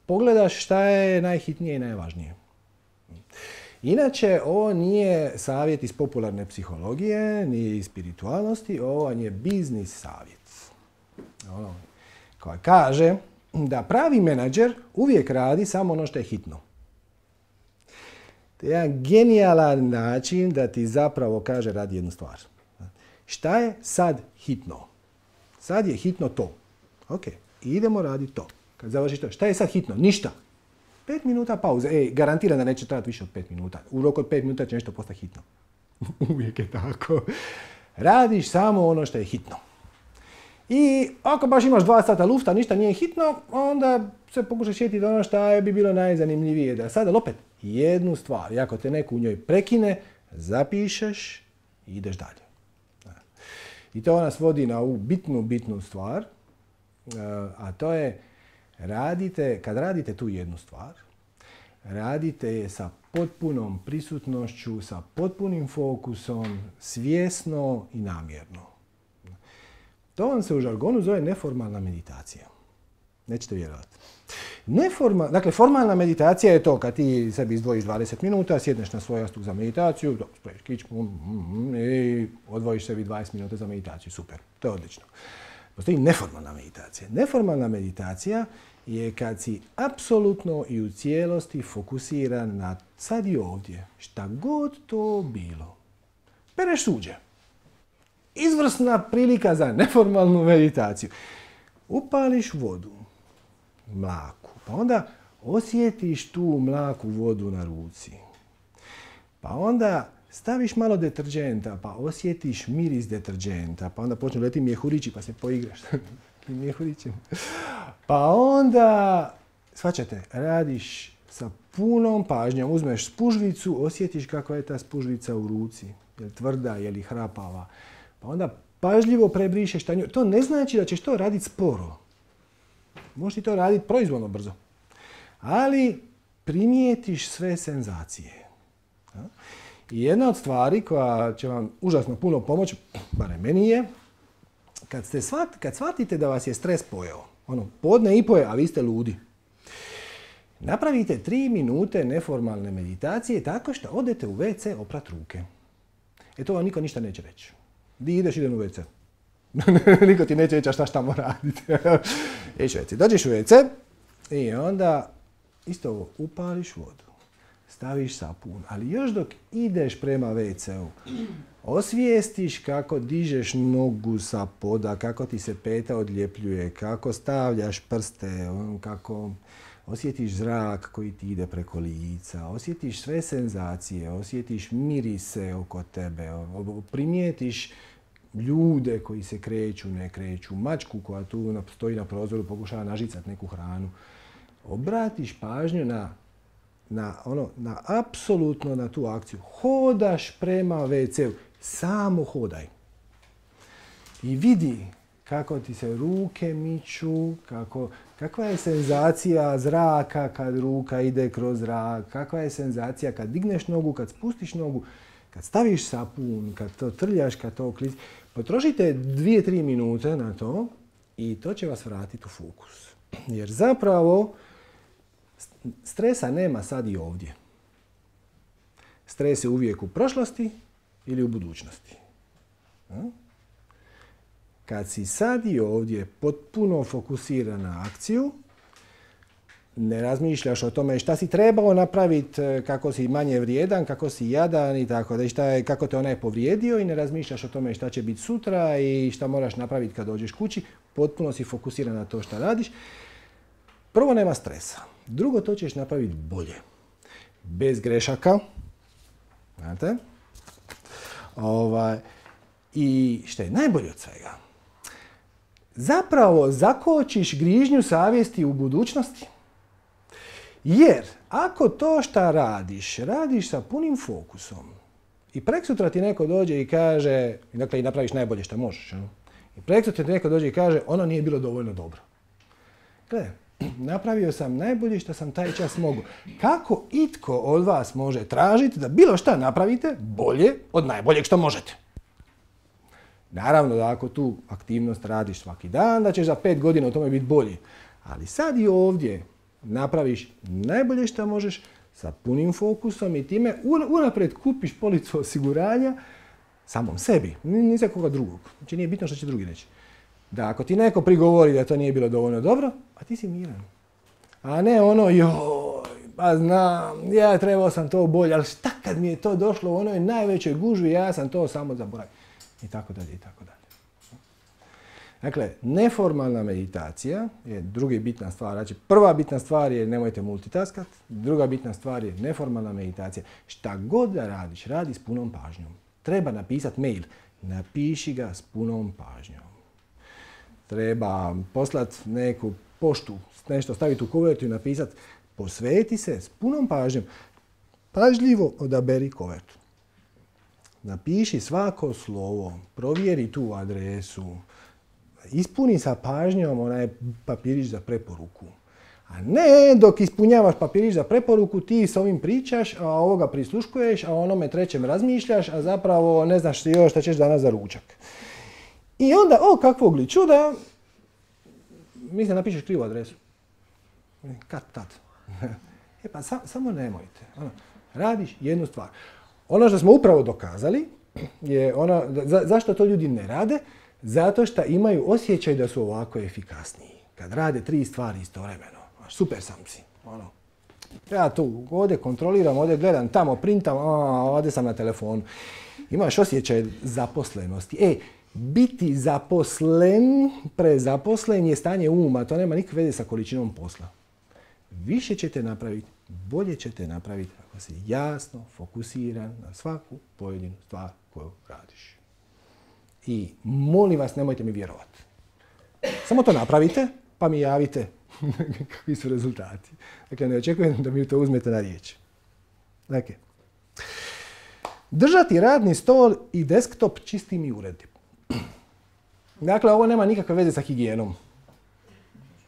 [SPEAKER 1] pogledaš šta je najhitnije i najvažnije. Inače, ovo nije savjet iz popularne psihologije, ni iz spiritualnosti, ovo je biznis savjet. Ono, koja kaže da pravi menadžer uvijek radi samo ono što je hitno. To je jedan genijalan način da ti zapravo kaže radi jednu stvar. Šta je sad hitno? Sad je hitno to. Ok, idemo raditi to. Kad završiš to, šta je sad hitno? Ništa. Pet minuta pauze. Ej, garantiram da neće trajati više od pet minuta. U roku od pet minuta će nešto postati hitno. Uvijek je tako. Radiš samo ono što je hitno. I ako baš imaš dva sata lufta, ništa nije hitno, onda se pokušaš sjetiti ono što bi bilo najzanimljivije. Da sada opet jednu stvar, i ako te neko u njoj prekine, zapišeš i ideš dalje. I to nas vodi na ovu bitnu, bitnu stvar, a to je radite, kad radite tu jednu stvar, radite je sa potpunom prisutnošću, sa potpunim fokusom, svjesno i namjerno. To vam se u žargonu zove neformalna meditacija. Nećete vjerovati. Neforma, dakle, formalna meditacija je to kad ti sebi izdvojiš dvadeset minuta, sjedneš na svoj jastuk za meditaciju, sprejiš kičmu i odvojiš sebi dvadeset minuta za meditaciju. Super, to je odlično. Postoji neformalna meditacija. Neformalna meditacija je kad si apsolutno i u cijelosti fokusiran na sad i ovdje, šta god to bilo. Pereš suđe. Izvrsna prilika za neformalnu meditaciju. Upališ vodu, mlaku, pa onda osjetiš tu mlaku vodu na ruci. Pa onda staviš malo deterdženta, pa osjetiš miris deterdženta, pa onda počnu leti mjehurići, pa se poigraš mjehurićem. Pa onda, shvaćate, radiš sa punom pažnjom, uzmeš spužvicu, osjetiš kako je ta spužvica u ruci, je li tvrda, je li hrapava. Pa onda pažljivo prebrišeš tanju. To ne znači da ćeš to raditi sporo. Možeš ti to raditi proizvoljno brzo. Ali primijetiš sve senzacije. I jedna od stvari koja će vam užasno puno pomoći, barem meni je, kad, ste shvat, kad shvatite da vas je stres pojeo, Ono, podne i po je, a vi ste ludi. Napravite tri minute neformalne meditacije tako što odete u ve ce oprat ruke. E to vam niko ništa neće reći. Di ideš, idem u ve ce. Niko ti neće reći šta šta mora raditi. Ideš u ve ce. Dođeš u ve ce i onda isto ovo, upališ vodu. Staviš sapun, ali još dok ideš prema ve ce u, osvijestiš kako dižeš nogu sa poda, kako ti se peta odljepljuje, kako stavljaš prste, kako osjetiš zrak koji ti ide preko lica, osjetiš sve senzacije, osjetiš mirise oko tebe, primijetiš ljude koji se kreću, ne kreću, mačku koja tu stoji na prozoru, pokušava nažicati neku hranu. Obratiš pažnju na Na, ono, na apsolutno na tu akciju. Hodaš prema ve ce u. Samo hodaj. I vidi kako ti se ruke miču, kako, kakva je senzacija zraka kad ruka ide kroz zrak, kakva je senzacija kad digneš nogu, kad spustiš nogu, kad staviš sapun, kad to trljaš, kad to klici. Potrošite dvije, tri minute na to i to će vas vratiti u fokus. Jer zapravo stresa nema sad i ovdje. Stres je uvijek u prošlosti ili u budućnosti. Kad si sad i ovdje potpuno fokusiran na akciju, ne razmišljaš o tome šta si trebao napraviti, kako si manje vrijedan, kako si jadan i tako da, šta je, kako te onaj povrijedio i ne razmišljaš o tome šta će biti sutra i šta moraš napraviti kad dođeš kući, potpuno si fokusiran na to šta radiš. Prvo, nema stresa. Drugo, to ćeš napraviti bolje. Bez grešaka. Znate? Ovaj, I što je najbolje od svega? Zapravo zakočiš grižnju savjesti u budućnosti. Jer ako to šta radiš, radiš sa punim fokusom i preksutra ti neko dođe i kaže, dakle i napraviš najbolje što možeš, i preksutra ti neko dođe i kaže ono nije bilo dovoljno dobro. Gle, napravio sam najbolje što sam taj čas mogu. Kako itko od vas može tražiti da bilo šta napravite bolje od najboljeg što možete? Naravno da ako tu aktivnost radiš svaki dan, da ćeš za pet godina u tome biti bolji. Ali sad i ovdje napraviš najbolje što možeš sa punim fokusom i time unaprijed kupiš policu osiguranja samom sebi, ni za koga drugog. Znači nije bitno što će drugi reći. Da ako ti neko prigovori da to nije bilo dovoljno dobro, a ti si miran. A ne ono, joj, pa znam, ja trebao sam to bolje, ali šta kad mi je to došlo u onoj najvećoj gužvi, ja sam to samo zaboravio. I tako dalje, i tako dalje. Dakle, neformalna meditacija je druga bitna stvar. Znači, prva bitna stvar je nemojte multitaskat, druga bitna stvar je neformalna meditacija. Šta god da radiš, radi s punom pažnjom. Treba napisati mail, napiši ga s punom pažnjom. Treba poslati neku poštu, nešto staviti u kovertu i napisati posveti se s punom pažnjom. Pažljivo odaberi kovertu. Napiši svako slovo, provjeri tu adresu, ispuni sa pažnjom onaj papirić za preporuku. A ne dok ispunjavaš papirić za preporuku ti s ovim pričaš, a ovoga prisluškuješ, a onome trećem razmišljaš, a zapravo ne znaš još šta ćeš danas za ručak. I onda, o kakvog li čuda, mislim napišeš krivu adresu. Kad tad? E pa sa, samo nemojte. Ono, radiš jednu stvar. Ono što smo upravo dokazali je ono, za, zašto to ljudi ne rade? Zato što imaju osjećaj da su ovako efikasniji. Kad rade tri stvari istovremeno. Super sam si. Ono. Ja tu ovdje kontroliram, ovdje gledam, tamo printam, a, ovdje sam na telefonu. Imaš osjećaj zaposlenosti. E, biti zaposlen, prezaposlen je stanje uma. To nema nikakve veze sa količinom posla. Više ćete napraviti, bolje ćete napraviti ako si jasno fokusiran na svaku pojedinu stvar koju radiš. I molim vas, nemojte mi vjerovati. Samo to napravite, pa mi javite kakvi su rezultati. Dakle, ne očekujem da mi to uzmete na riječ. Dakle, držati radni stol i desktop čistim i uredim. Dakle, ovo nema nikakve veze sa higijenom.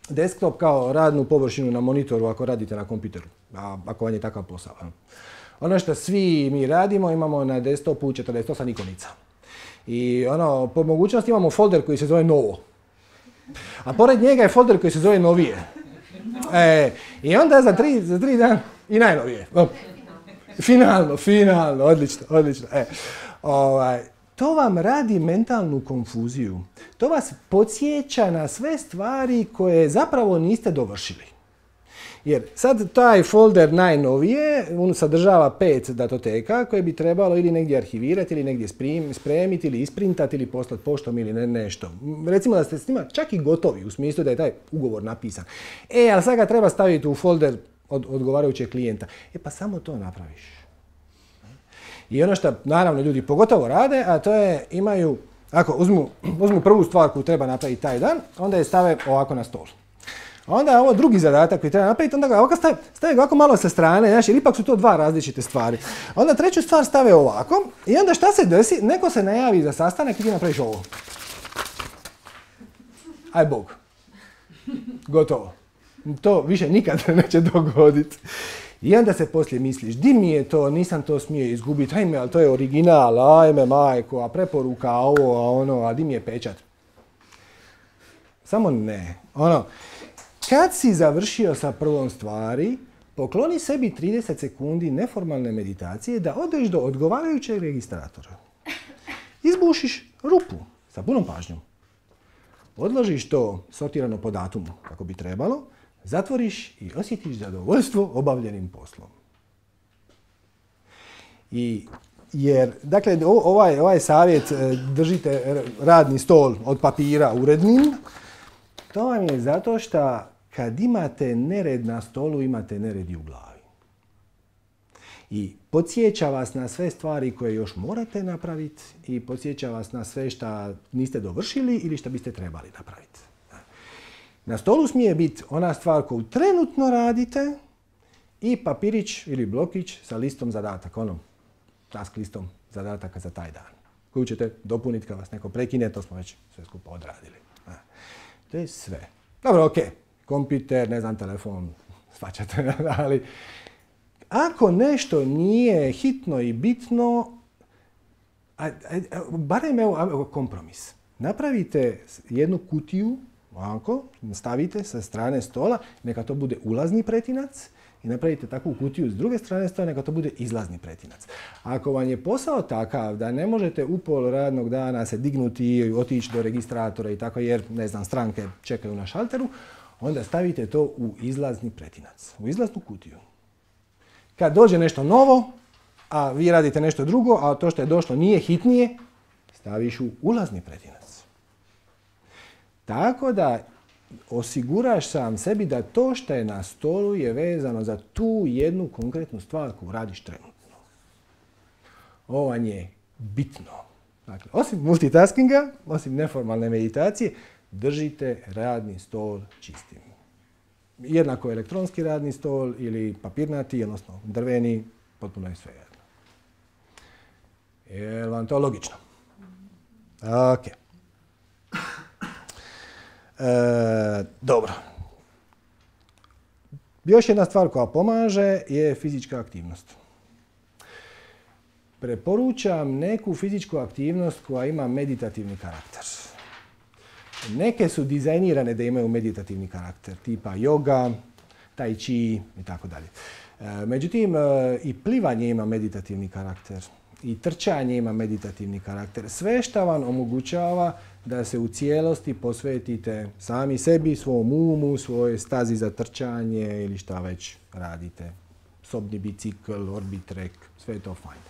[SPEAKER 1] Desktop kao radnu površinu na monitoru ako radite na kompjuteru, ako vam je takav posao. Ono što svi mi radimo, imamo na desktopu četrdeset osam ikonica. I ono, po mogućnosti imamo folder koji se zove novo. A pored njega je folder koji se zove novije. E, I onda za tri, za tri dana i najnovije. O, finalno, finalno, odlično, odlično. E, ovaj, to vam radi mentalnu konfuziju. To vas podsjeća na sve stvari koje zapravo niste dovršili. Jer sad taj folder najnovije, on sadržava pet datoteka koje bi trebalo ili negdje arhivirati, ili negdje spremiti, ili isprintati, ili poslati poštom ili ne, nešto. Recimo da ste s njima čak i gotovi, u smislu da je taj ugovor napisan. E, ali sad ga treba staviti u folder od odgovarajućeg klijenta. E, pa samo to napraviš. I ono što, naravno, ljudi pogotovo rade, a to je, imaju, ako uzmu, uzmu prvu stvar koju treba napraviti taj dan, onda je stave ovako na stol. Onda je ovo drugi zadatak koji treba napraviti, onda ga ovako stave, stave ga ovako malo sa strane, znači, jer ipak su to dva različite stvari. Onda treću stvar stave ovako i onda šta se desi? Neko se najavi za sastanak i ti napraviš ovo. Aj Bog. Gotovo. To više nikad neće dogoditi. I onda se poslije misliš, di mi je to, nisam to smio izgubiti, ajme, ali to je original, ajme majko, a preporuka, a ovo, a ono, a di mi je pečat? Samo ne. Ono, kad si završio sa prvom stvari, pokloni sebi trideset sekundi neformalne meditacije da odeš do odgovarajućeg registratora. Izbušiš rupu sa punom pažnjom. Odložiš to sortirano po datumu, kako bi trebalo, zatvoriš i osjetiš zadovoljstvo obavljenim poslom. I, jer, dakle, ovaj, ovaj savjet, držite radni stol od papira urednim, to vam je zato što kad imate nered na stolu, imate nered i u glavi. I podsjeća vas na sve stvari koje još morate napraviti i podsjeća vas na sve što niste dovršili ili što biste trebali napraviti. Na stolu smije biti ona stvar koju trenutno radite i papirić ili blokić sa listom zadataka, onom task listom zadataka za taj dan, koju ćete dopuniti kad vas neko prekine, to smo već sve skupa odradili. To je sve. Dobro, ok, kompjuter, ne znam, telefon, shvaćate, ali ako nešto nije hitno i bitno, a, a, a, barem evo kompromis. Napravite jednu kutiju, ovako, stavite sa strane stola, neka to bude ulazni pretinac i napravite takvu kutiju s druge strane stola, neka to bude izlazni pretinac. Ako vam je posao takav da ne možete u pol radnog dana se dignuti i otići do registratora i tako, jer, ne znam, stranke čekaju na šalteru, onda stavite to u izlazni pretinac, u izlaznu kutiju. Kad dođe nešto novo, a vi radite nešto drugo, a to što je došlo nije hitnije, staviš u ulazni pretinac. Tako da osiguraš sam sebi da to što je na stolu je vezano za tu jednu konkretnu stvar koju radiš trenutno. Ovo vam je bitno. Dakle, osim multitaskinga, osim neformalne meditacije, držite radni stol čistim. Jednako elektronski radni stol ili papirnati, odnosno drveni, potpuno je sve jedno. Je li vam to logično? Ok. E, dobro. Još jedna stvar koja pomaže je fizička aktivnost. Preporučam neku fizičku aktivnost koja ima meditativni karakter. Neke su dizajnirane da imaju meditativni karakter, tipa yoga, tai chi i tako dalje. Međutim, i plivanje ima meditativni karakter, i trčanje ima meditativni karakter. Sve što vam omogućava da se u cijelosti posvetite sami sebi, svom umu, svojoj stazi za trčanje ili šta već radite. Sobni bicikl, orbitrek, sve je to fajn.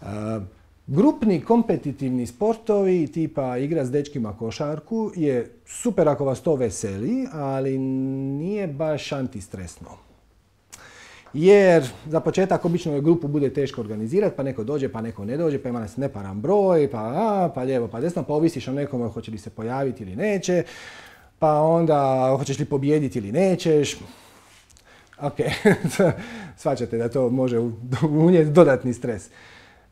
[SPEAKER 1] Uh, Grupni kompetitivni sportovi tipa igra s dečkima košarku je super ako vas to veseli, ali nije baš antistresno. Jer za početak obično grupu bude teško organizirati, pa neko dođe, pa neko ne dođe, pa ima nas neparan broj, pa, a, pa lijevo, pa desno, pa ovisiš o nekome hoće li se pojaviti ili neće, pa onda hoćeš li pobijediti ili nećeš. Ok, shvaćate da to može unijeti dodatni stres.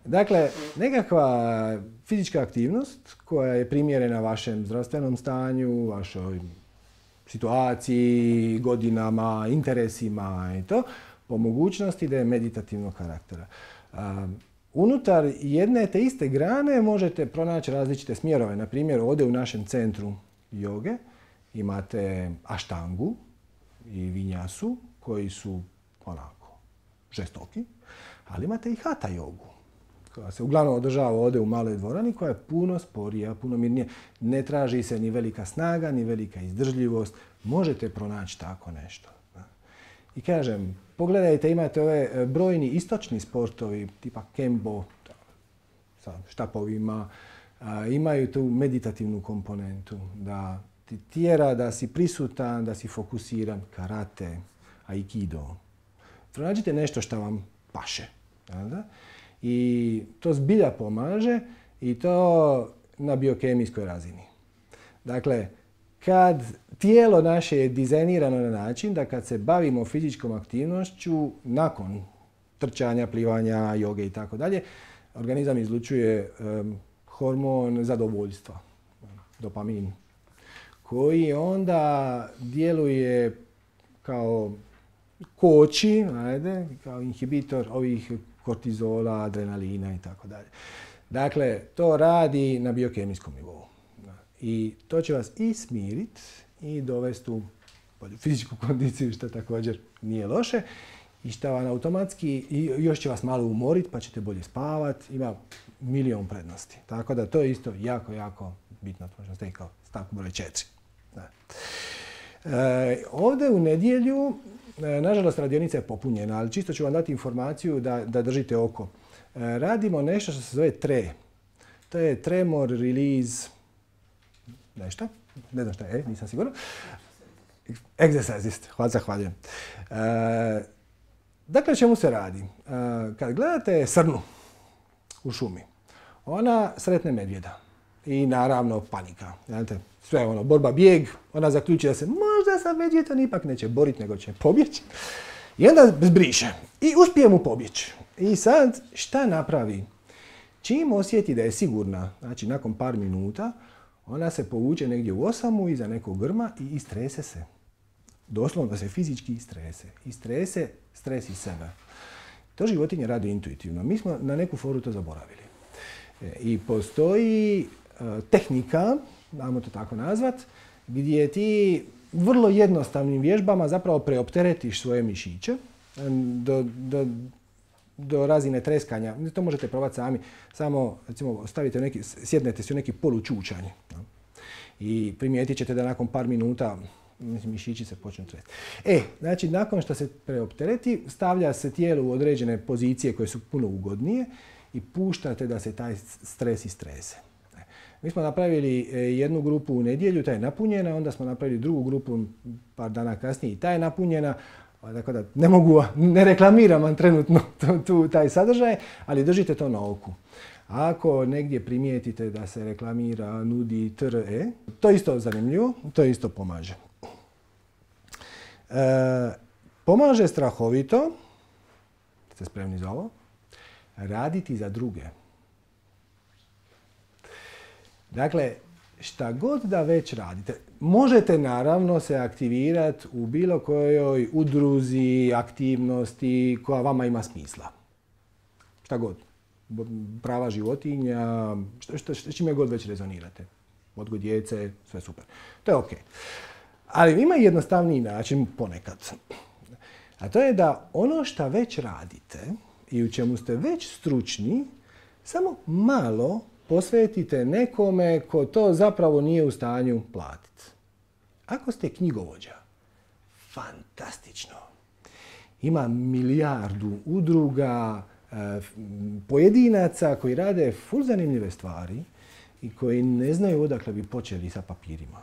[SPEAKER 1] Dakle, nekakva fizička aktivnost koja je primjerena vašem zdravstvenom stanju, vašoj situaciji, godinama, interesima i to, po mogućnosti da je meditativnog karaktera. Um, unutar jedne te iste grane možete pronaći različite smjerove. Na primjer, ovdje u našem centru joge Imate aštangu i vinjasu koji su onako žestoki, ali imate i hatha jogu koja se uglavnom održava ovdje u maloj dvorani, koja je puno sporija, puno mirnija. Ne traži se ni velika snaga, ni velika izdržljivost. Možete pronaći tako nešto. I kažem, pogledajte, imate ove brojni istočni sportovi, tipa kembo, sa štapovima, imaju tu meditativnu komponentu, da ti tjera da si prisutan, da si fokusiran, karate, aikido. Pronađite nešto što vam paše. Da? I to zbilja pomaže i to na biokemijskoj razini. Dakle, kad tijelo naše je dizajnirano na način da kad se bavimo fizičkom aktivnošću, nakon trčanja, plivanja, joge i tako dalje, organizam izlučuje um, hormon zadovoljstva, dopamin, koji onda djeluje kao koči, ajde, kao inhibitor ovih kortizola, adrenalina i tako dalje. Dakle, to radi na biokemijskom nivou. I to će vas i smiriti i dovesti u fizičku kondiciju, što također nije loše. I što vam automatski, i još će vas malo umoriti pa ćete bolje spavati. Ima milion prednosti. Tako da to je isto jako, jako bitno. To možemo staviti kao stavku broj četiri. Da. E, ovdje u nedjelju, e, nažalost radionica je popunjena, ali čisto ću vam dati informaciju da, da držite oko. E, radimo nešto što se zove T R E. To je Tremor Release nešto. Ne znam šta je, nisam siguran. Exercisist. Hvala, zahvaljujem. E, dakle, čemu se radi? E, kad gledate srnu u šumi, ona sretne medvjeda. I naravno panika. Znate, sve ono, borba, bijeg, ona zaključi da se možda sa medvjedom ipak neće boriti, nego će pobjeći. I onda zbriše. I uspije mu pobjeći. I sad, šta napravi? Čim osjeti da je sigurna, znači nakon par minuta, ona se povuče negdje u osamu iza nekog grma i istrese se. Doslovno se fizički istrese. Istrese stres iz sebe. To životinje radi intuitivno. Mi smo na neku foru to zaboravili. E, I postoji tehnika, dajmo to tako nazvat, gdje ti vrlo jednostavnim vježbama zapravo preopteretiš svoje mišiće do, do, do razine treskanja. To možete probati sami. Samo recimo, stavite neki, sjednete se u neki polučučanj i primijetit ćete da nakon par minuta mišići se počnu tresti. E, znači nakon što se preoptereti, stavlja se tijelo u određene pozicije koje su puno ugodnije i puštate da se taj stres istrese. Mi smo napravili jednu grupu u nedjelju, ta je napunjena, onda smo napravili drugu grupu par dana kasnije i ta je napunjena. Dakle, da ne mogu, ne reklamiram vam trenutno tu, taj sadržaj, ali držite to na oku. Ako negdje primijetite da se reklamira, nudi T R E, to je isto zanimljivo, to isto pomaže. E, pomaže strahovito, ste spremni za ovo, raditi za druge. Dakle, šta god da već radite, možete naravno se aktivirati u bilo kojoj udruzi, aktivnosti koja vama ima smisla. Šta god. Prava životinja, što, što, što, čime god već rezonirate. Odgoj djece, sve super. To je ok. Ali ima jednostavniji način ponekad. A to je da ono što već radite i u čemu ste već stručni, samo malo posvetite nekome ko to zapravo nije u stanju platiti. Ako ste knjigovođa, fantastično. Ima milijardu udruga, pojedinaca koji rade ful zanimljive stvari i koji ne znaju odakle bi počeli sa papirima.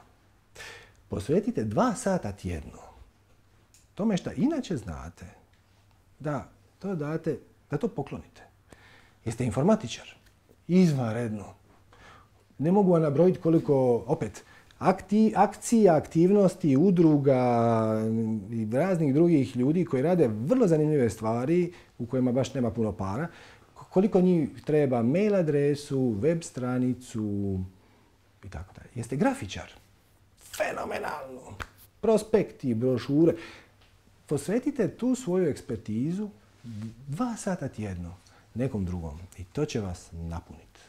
[SPEAKER 1] Posvetite dva sata tjedno tome što inače znate, da to date, da to poklonite. Jeste informatičar? Izvanredno. Ne mogu vam nabrojiti koliko, opet, akti, akcija, aktivnosti, udruga i raznih drugih ljudi koji rade vrlo zanimljive stvari u kojima baš nema puno para. Koliko njih treba mail adresu, web stranicu i tako dalje. Jeste grafičar? Fenomenalno. Prospekti, brošure. Posvetite tu svoju ekspertizu dva sata tjedno nekom drugom i to će vas napuniti.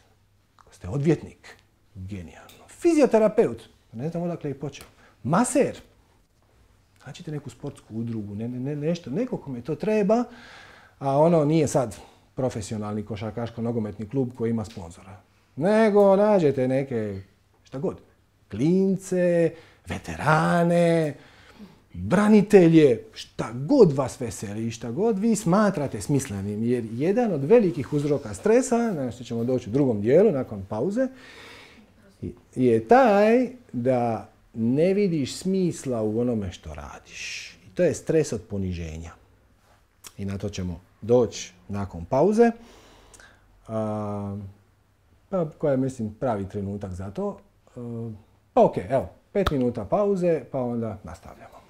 [SPEAKER 1] Ako ste odvjetnik, genijalno. Fizioterapeut, ne znam odakle je počeo. Maser. Nađite neku sportsku udrugu, ne, ne, nešto, neko kome to treba, a ono nije sad profesionalni košarkaško-nogometni klub koji ima sponzora. Nego nađete neke, šta god, klince, veterane, branitelje, šta god vas veseli, šta god vi smatrate smislenim. Jer jedan od velikih uzroka stresa, na što ćemo doći u drugom dijelu, nakon pauze, je taj da ne vidiš smisla u onome što radiš. I to je stres od poniženja. I na to ćemo doći nakon pauze. A, pa, koja je, mislim, pravi trenutak za to. A, pa ok, evo, pet minuta pauze, pa onda nastavljamo.